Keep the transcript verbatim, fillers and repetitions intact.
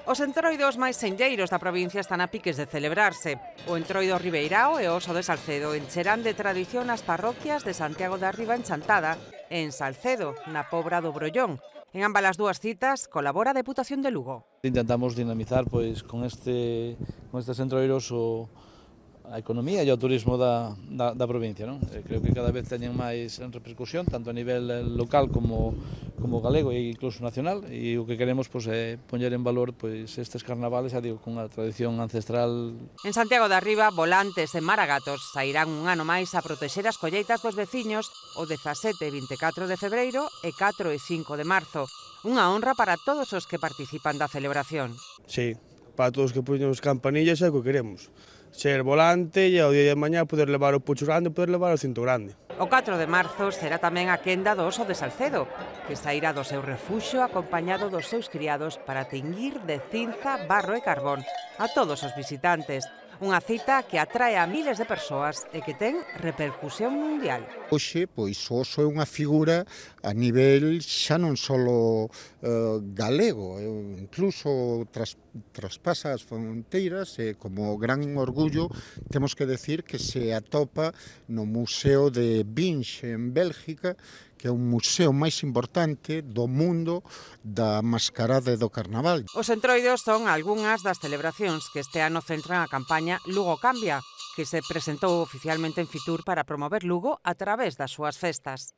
Os entroidos máis senlleiros da provincia están a piques de celebrarse. O entroido Ribeirao e o Oso de Salcedo encherán de tradición as parroquias de Santiago de Arriba en Chantada e en Salcedo, na Pobra do Brollón. En ambas as dúas citas colabora a Deputación de Lugo. Intentamos dinamizar pois con este con estes entroidos o a economía e o turismo da, da, da provincia, non? Creo que cada vez teñen máis repercusión, tanto a nivel local como, como galego e incluso nacional, e o que queremos pois, é poñer en valor pois, estes carnavales, xa digo, con a tradición ancestral. En Santiago de Arriba, volantes e maragatos sairán un ano máis a protexer as colleitas dos veciños o dezasete e vinte e catro de febreiro e catro e cinco de marzo. Unha honra para todos os que participan da celebración. Sí, para todos os que poñemos campanillas é o que queremos. Ser volante e ao día de mañá poder levar o pucho grande e poder levar o cinto grande. O catro de marzo será tamén a quenda do Oso de Salcedo, que sairá do seu refuxo acompañado dos seus criados para teñir de cinza, barro e carbón a todos os visitantes. Unha cita que atrae a miles de persoas e que ten repercusión mundial. Hoxe, pois, o oso é unha figura a nivel xa non só uh, galego, incluso tras, traspasa as fronteiras e como gran orgullo temos que decir que se atopa no Museo de Binge en Bélgica, que é o museo máis importante do mundo da mascarada e do carnaval. Os entroidos son algunhas das celebracións que este ano centran a campaña Lugo Cambia, que se presentou oficialmente en Fitur para promover Lugo a través das súas festas.